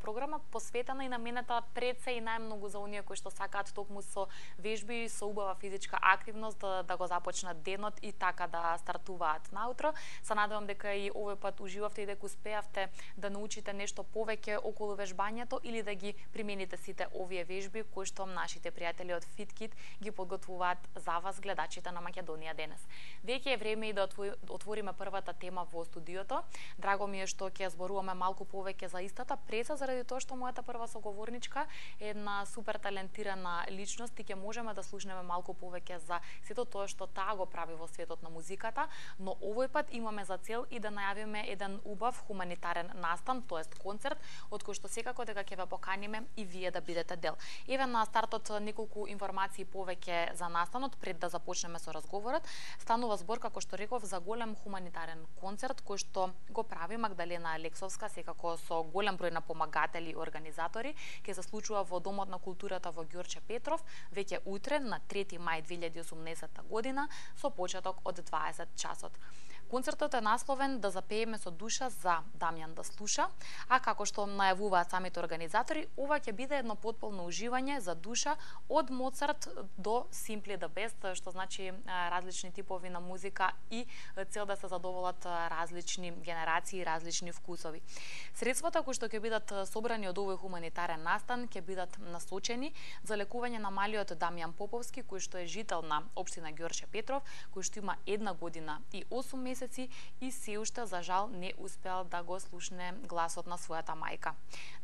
програма посветена и наменета пред се и најмногу за оние кои што сакаат токму со вежби, со убава физичка активност да го започнат денот и така да стартуваат наутро. Се надевам дека и овој пат уживавте и дека успеавте да научите нешто повеќе околу вежбањето или да ги примените сите овие вежби кои што нашите пријатели од FitKit ги подготвуваат за вас, гледачите на Македонија денес. Веќе е време и да отвориме првата тема во студиото. Драго ми е што ќе зборуваме малку повеќе за истата, преса заради тоа што мојата прва соговорничка е една супер талентирана личност и ќе можеме да слушнеме малку повеќе за сето тоа што таа го прави во светот на музиката, но овој пат имаме за цел и да најавиме еден убав хуманитарен настан, тоест концерт, од кој што секако дека ќе ве поканиме и вие да бидете дел. Еве на стартот неколку информации повеќе за настанот пред да започнеме со разговорот. Станува збор, како што реков, за голем хуманитарен концерт кој што го прави Магдалена Алексовска, секако со голем број на помагатели и организатори, ќе се случува во Домот на културата во Ѓорче Петров, веќе утре на 3 мај 2018 година со почеток од 20 часот. Концертот е насловен "Да запееме со душа" за Дамјан да слуша, а како што најавуваат самите организатори, ова ќе биде едно потполно уживање за душа од Моцарт до Simply the Best, што значи различни типови на музика и цел да се задоволат различни генерации и различни вкусови. Средствата кои што ќе бидат собрани од овој хуманитарен настан ќе бидат насочени за лекување на малиот Дамјан Поповски, кој што е жител на општина Ѓорче Петров, кој што има 1 година и 8 месеци и се уште за жал не успеал да го слушне гласот на својата мајка.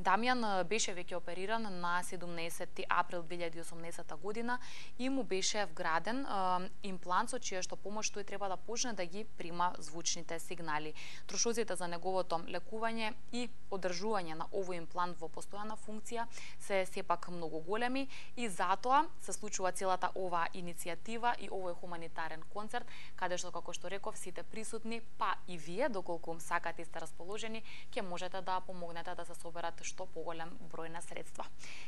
Дамјан беше веќе опериран на 17 април 2018 година и му беше вграден имплант со чија што помош тој треба да почне да ги прима звучните сигнали. Трошоците за неговото лекување и одржување на овој имплант во постојана функција се сепак многу големи и затоа се случува целата оваа иницијатива и овој хуманитарен концерт, каде што, како што реков, сите присутни, па и вие, доколку сакате и сте расположени, ќе можете да помогнете да се соберат што поголем број на средства.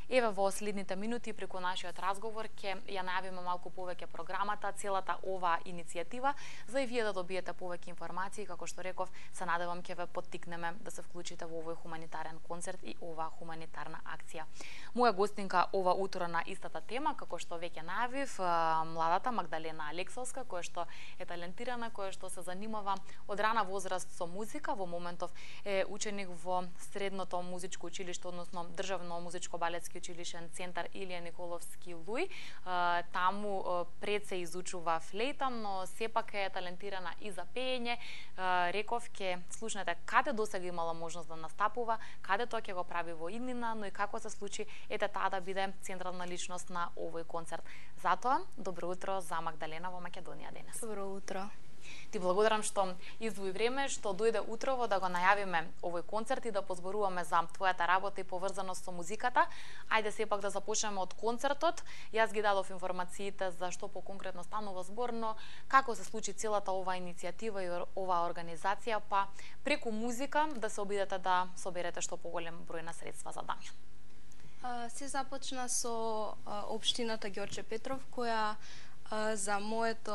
Еве во следните минути преку нашиот разговор ќе ја најавиме малку повеќе програмата, целата оваа иницијатива, за и вие да добиете повеќе информации, како што реков, се надевам ќе ве поттикнеме да се вклучите во овој хуманитарен концерт и оваа хуманитарна акција. Моја гостинка ова утро на истата тема, како што веќе најавив, младата Магдалена Алексовска, која што е талентирана, која што се занимава од рана возраст со музика, во моментов е ученик во средното музичко училиште, односно Државно музичко-балетски училишен центар Илија Николовски Луј. Таму пред се изучува флейта, но сепак е талентирана и за пеење. Реков ќе слушнете каде досега имала можност да настапува, каде тоа ќе го прави во иднина, но и како се случи ете таа да биде централна личност на овој концерт. Затоа, добро утро за Магдалена во Македонија денес. Добро утро. Ти благодарам што издвои време, што дојде утрово да го најавиме овој концерт и да позборуваме за твојата работа и поврзаност со музиката. Ајде сепак да започнеме од концертот. Јас ги дадов информациите за што поконкретно станува збор, но како се случи целата оваа иницијатива и оваа организација, па преку музика да се обидете да соберете што поголем број на средства за Дамјан. Се започна со општината Ѓорче Петров, која за моето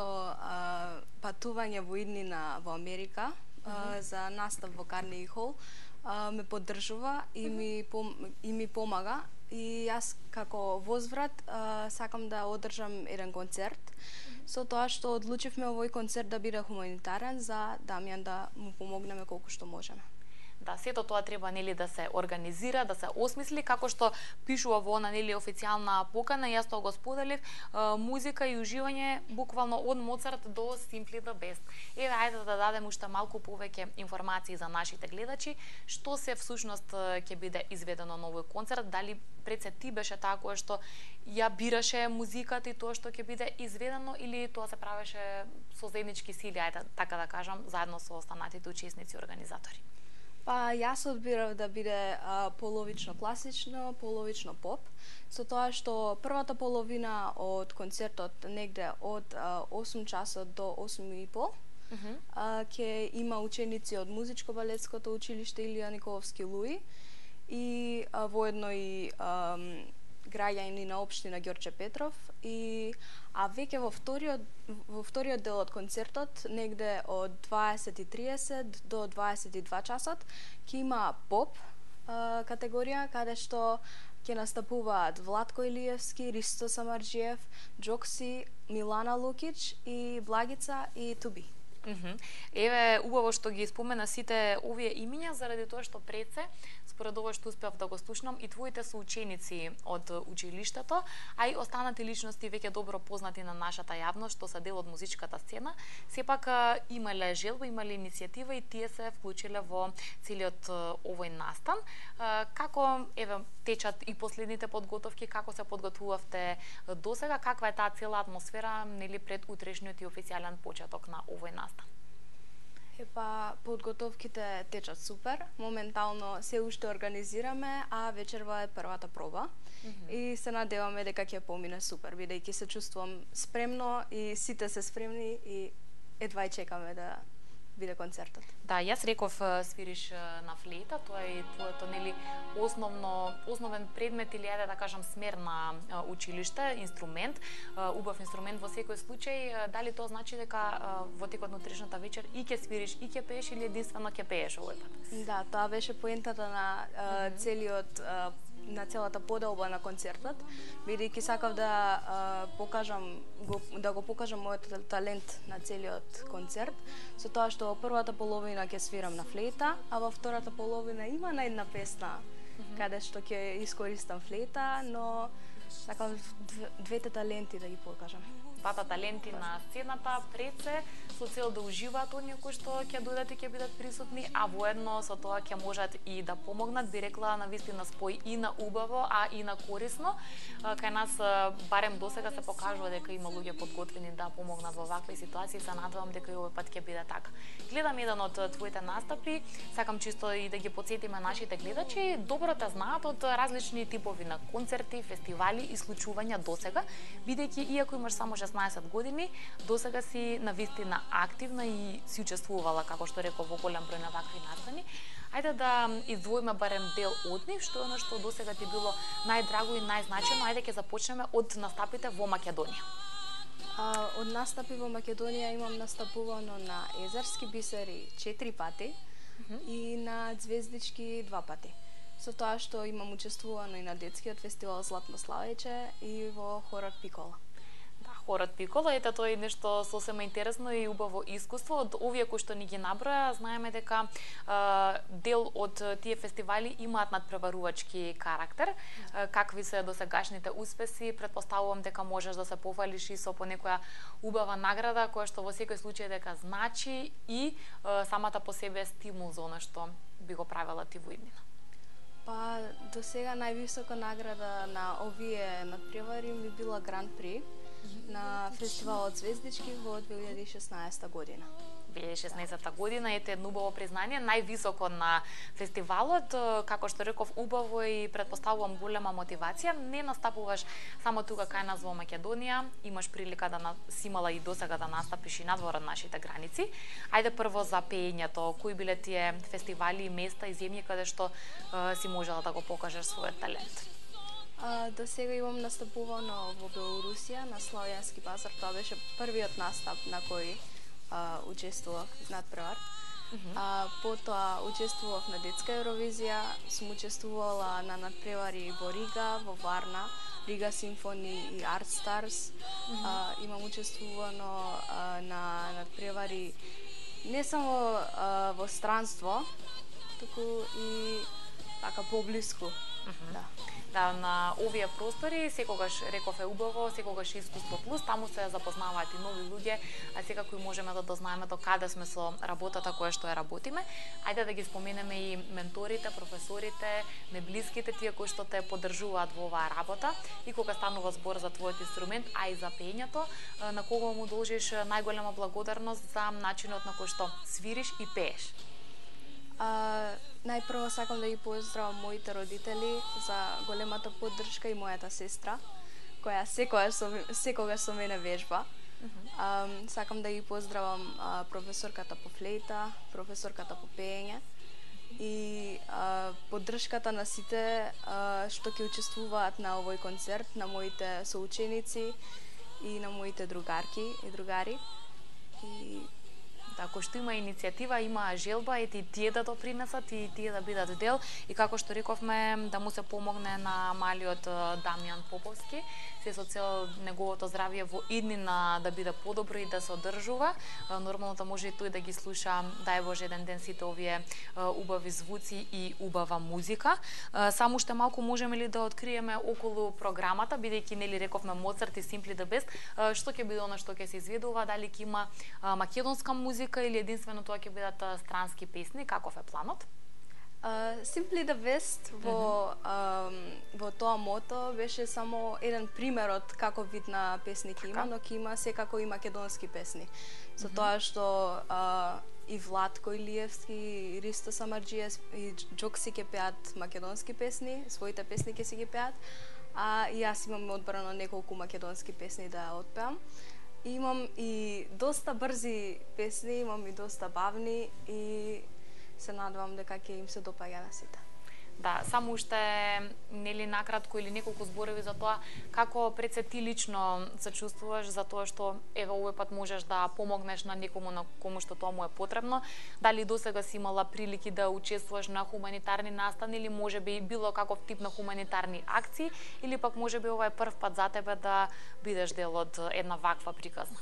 патување во иднина во Америка, за настав во Карнеги Хол, ме поддржува и ми помага. И јас како возврат сакам да одржам еден концерт, со тоа што одлучивме овој концерт да биде хуманитарен за Дамјан, да му помогнеме колку што можеме. Да, сето тоа треба нели да се организира, да се осмисли, како што пишува во она нели официјална покана, јас тоа го споделив, музика и уживање буквално од Моцарт до Simply the Best. Еве ајде да дадем уште малку повеќе информации за нашите гледачи, што се всушност ќе биде изведено на овој концерт, дали пред се ти беше таа која што ја бираше музиката и тоа што ќе биде изведено или тоа се правеше со заеднички сили, ајде така да кажам, заедно со останатите учесници и организатори. Па јас одбирав да биде половично класично, половично поп, со тоа што првата половина од концертот негде од 8 часот до 8:30 ќе има ученици од Музичко-балетското училиште Илија Николовски Луј и воедно и граѓани на општина Ѓорче Петров, а веќе во вториот дел од концертот, негде од 20:30 до 22 часот, ќе има поп, категорија, каде што ќе настапуваат Владко Илиевски, Ристо Самарџиев, Джокси, Милана Лукич и Благица и Туби. Еве, убаво што ги спомена сите овие имиња, заради тоа што пред се, според ова што успеав да го слушнам, и твоите соученици од училиштето, а и останати личности веќе добро познати на нашата јавност, што се дел од музичката сцена, сепак имале желба, имале иницијатива и тие се вклучиле во целиот овој настан. Како, еве, течат и последните подготовки, како се подготвувавте досега, каква е таа цела атмосфера, нели, пред утрешниот и официјален почеток на овој настан? Епа, подготовките течат супер. Моментално се уште организираме, а вечерва е првата проба. И се надеваме дека ќе помине супер, бидејќи се чувствувам спремно и сите се спремни и едва чекаме да биде концертот. Да, јас реков свириш на флейта, тоа е твоето, нели, основен предмет или да кажам смер на училиште, инструмент, убав инструмент во секој случај. Дали тоа значи дека во текот на утрешната вечер и ќе свириш и ќе пееш или единствено ќе пееш овој пат? Да, тоа беше поентата на на целата поделба на концертот, бидејќи сакав да го покажам мојот талент на целиот концерт, со тоа што во првата половина ќе свирам на флейта, а во втората половина има на една песна каде што ќе искористам флейта, но сакам двете таленти да ги покажам. Двата таленти на сцената пред се, со цел да уживаат оние кои што ќе дојдат и ќе бидат присутни, а воедно со тоа ќе можат и да помогнат, би рекла, на вистина спој и на убаво, а и на корисно. Кај нас барем досега се покажува дека има луѓе подготвени да помогнат во вакви ситуации, се надевам дека и овој пат ќе биде така. Гледам еден од твоите настапи, сакам чисто и да ги потсетиме нашите гледачи, добро те знаат од различни типови на концерти, фестивали и случувања досега, бидејќи иако имаш само 16 години, досега си навистина активна и си учествувала, како што реков, во голем број на вакви настани. Ајде да издвоиме барем дел од нив, што е оно што досега ти било најдраго и најзначајно. Ајде ќе започнеме од настапите во Македонија. Од настапи во Македонија имам настапувано на Езерски бисери 4 пати и на Звездички 2 пати. Со тоа што имам учествувано и на детскиот фестивал Златно славеќе и во хорот Пикола. Хорот Пикола, ете тоа е нешто сосема интересно и убаво искуство. Од овие кои што ни ги наброја, знаеме дека дел од тие фестивали имаат надпреварувачки карактер. Какви се досегашните успеси? Претпоставувам дека можеш да се пофалиш и со по некоја убава награда, која што во секој случај дека значи и самата по себе стимул за она што би го правела ти во иднина. Па, до сега највисока награда на овие надпревари ми била Гран При на фестивалот Звездички во 2016 година. 2016 година, ете едно убаво признание, највисоко на фестивалот, како што реков, убаво и претпоставувам голема мотивација. Не настапуваш само тука кај нас во Македонија, имаш прилика да си имала и досега да настапиш и надвор од нашите граници. Ајде прво за пеењето, кои биле тие фестивали и места и земји каде што си можела да го покажеш својот талент? До сега имам настапувано во Белорусија на Славјански пазар, тоа беше првиот настап на кој учествував надпревар. Потоа учествував на детска Евровизија, сум учествувала на надпревари во Рига, во Варна, Рига Симфони и Арт Старс. Имам учествувано на надпревари не само во странство, туку и така поблиску. Да, на овие простори секогаш реков е убаво, секогаш искуство плюс, таму се запознаваат и нови луѓе, а секако и можеме да дознаеме до каде сме со работата која што ја работиме. Ајде да ги споменеме и менторите, професорите, неблиските, тие кои што те поддржуваат во оваа работа и кога станува збор за твојот инструмент, а и за пеењето, на кого му должиш најголема благодарност за начинот на кој што свириш и пееш? Најпрво сакам да ги поздравам моите родители за големата поддршка и мојата сестра, која секогаш со мене вежба. Сакам да ги поздравам професорката по флейта, професорката по пеење и поддршката на сите што ќе учествуваат на овој концерт, на моите соученици и на моите другарки и другари. И Ако што има иницијатива, има желба и тие да допринесат и тие да бидат дел и како што рековме да му се помогне на малиот Дамјан Поповски, се со цел неговото здравје во иднина да биде подобро и да се одржува. Нормално да може и тој да ги слуша, дај Боже, еден ден сите овие убави звуци и убава музика. Само уште малку можеме ли да откриеме околу програмата, бидејќи нели рековме Моцарт и Simply the Best, што ќе биде она што ќе се изведува, дали ќе има македонска музика или единствено тоа ќе бидат странски песни, каков е планот? Simply the Best во тоа мото беше само еден пример од каков вид на песни ќе има, но ќе има секако и македонски песни. Со тоа што и Владко Илиевски, и Ристо Самарџије и Џокси ќе пеат македонски песни, своите песни ќе си ги пеат, а и јас имам одбрано неколку македонски песни да отпеам. Имам и доста брзи песни, имам и доста бавни и се надевам дека ќе им се допаѓа на сите. Да, само уште нели накратко или неколку зборови за тоа како пред се ти лично се чувствуваш за тоа што еве овој пат можеш да помогнеш на некому на кому што тоа му е потребно. Дали досега си имала прилики да учествуваш на хуманитарни настани или можеби било каков тип на хуманитарни акции или пак можеби ова е прв пат за тебе да бидеш дел од една ваква приказна?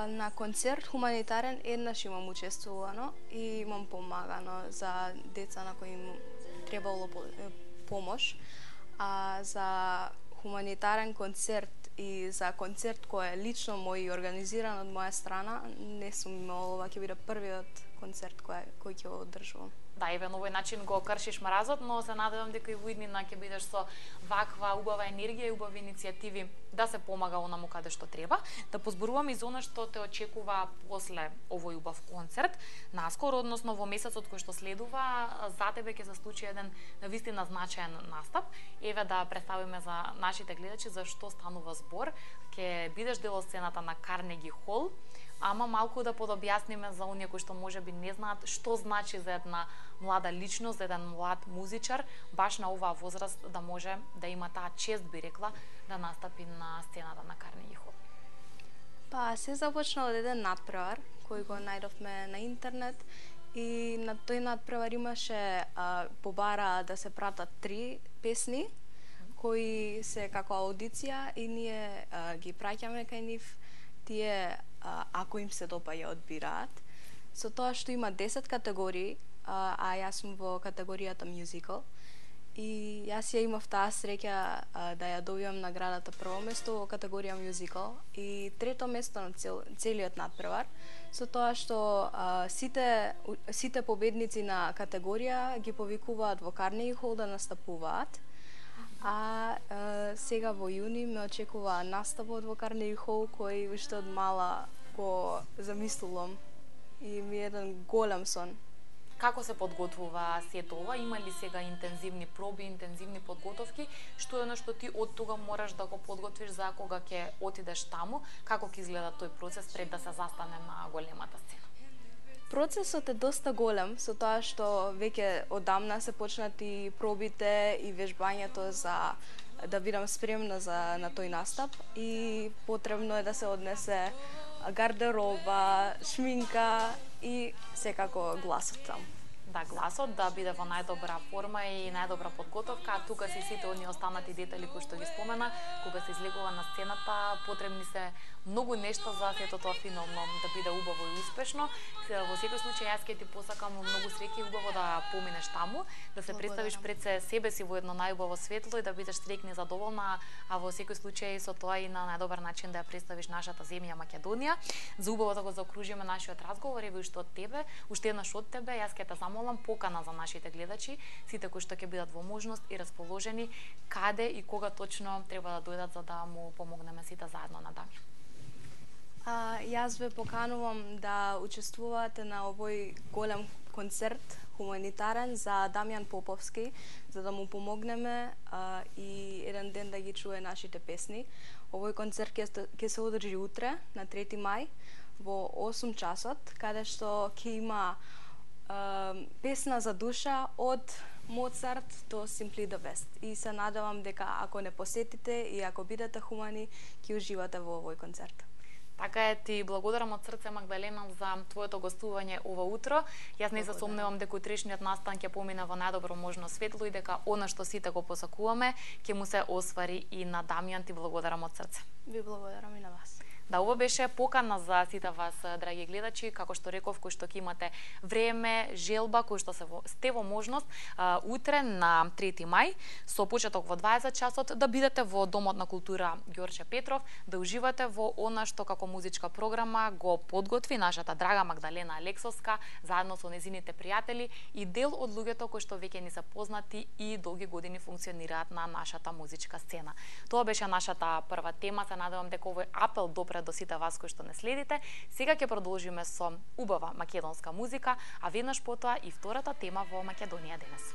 На концерт хуманитарен еднаш имам учествувано и имам помагано за деца на кои им требало помош. А за хуманитарен концерт и за концерт кој е лично мој организиран од моја страна, не сум имала, ова ќе биде првиот концерт кој ќе го одржувам. Да, еве на овој начин го кршиш мразот, но се надевам дека и во иднина ќе бидеш со ваква убава енергија и убави иницијативи да се помага онаму каде што треба. Да позборуваме и за она што те очекува после овој убав концерт. Наскоро, односно во месецот кој што следува, за тебе ќе се случи еден навистина значаен настап. Еве да представиме за нашите гледачи за што станува збор. Ќе бидеш дел од сцената на Карнеги Хол, ама малку да подобјасниме за оние кои што можеби не знаат што значи за една млада личност, за еден млад музичар, баш на оваа возраст да може да има таа чест, би рекла, да настапи на сцената на Карнеги Хол. Па, се започна од еден надпревар кој го најдовме на интернет и на тој надпревар имаше побара да се пратат 3 песни кои се како аудиција и ние ги праќаме кај нив. Тие ако им се допаѓа одбираат. Со тоа што има 10 категории, а јас сум во категоријата musical и јас ја имав таа среќа да ја добијам наградата прво место во категорија musical и трето место на целиот надпревар, со тоа што сите победници на категорија ги повикуваат во Карнеги Хол да настапуваат. А сега во јуни ме очекува настапот во Карнеги Хол кој уште од мала го замислувам и ми е еден голем сон. Како се подготвува сето ова? Има ли сега интензивни проби, интензивни подготовки? Што е оно што ти од тога мораш да го подготвиш за кога ќе отидеш таму? Како ќе изгледа тој процес пред да се застане на големата сцена? Процесот е доста голем, со тоа што веќе одамна се почнати пробите и вежбањето за да бидам спремна на тој настап и потребно е да се однесе гардероба, шминка и секако гласот таму. Да, гласот да биде во најдобра форма и најдобра подготовка, а тука се сите оние останати детали кои што ги спомена, кога се излегува на сцената, потребни се многу нешта за сето тоа финално да биде убаво и успешно. Во секој случај јас ќе ти посакам многу среќа и убаво да поминеш таму, да се представиш пред себе си во едно најубаво светло и да бидеш среќна и задоволна, а во секој случај со тоа и на најдобар начин да ја представиш нашата земја Македонија. За убаво да го заокружиме нашиот разговор, еве уште од тебе, уште еднаш од тебе, јас ќе те замолам покана за нашите гледачи, сите кои што ќе бидат во можност и расположени, каде и кога точно треба да дојдат за да му помогнеме сите заедно на Дамјан. Јас ве поканувам да учествувате на овој голем концерт хуманитарен за Дамјан Поповски, за да му помогнеме и еден ден да ги чуе нашите песни. Овој концерт ќе се одржи утре, на 3 мај, во 8 часот, каде што ќе има песна за душа од Моцарт до Simply the Best. И се надевам дека ако не посетите и ако бидете хумани, ќе уживате во овој концерт. Така е, ти благодарам од срце, Магдалена, за твоето гостување ова утро. Јас не се сомневам дека утрешниот настан ќе помине во најдобро можно светло и дека она што сите го посакуваме ќе му се оствари и на Дамјан. Ти благодарам од срце. Ви благодарам и на вас. Да, ова беше покана за сите вас, драги гледачи, како што реков, кои што ќе имате време, желба, кои што сте во можност утре на 3 мај со почеток во 20 часот да бидете во Домот на култура Ѓорче Петров, да уживате во она што како музичка програма го подготви нашата драга Магдалена Алексовска заедно со незините пријатели и дел од луѓето кои што веќе ни се познати и долги години функционираат на нашата музичка сцена. Тоа беше нашата прва тема. Се надевам дека овој апел допре до сите вас кои што не следите. Сега ќе продолжиме со убава македонска музика, а веднаш потоа и втората тема во Македонија денес.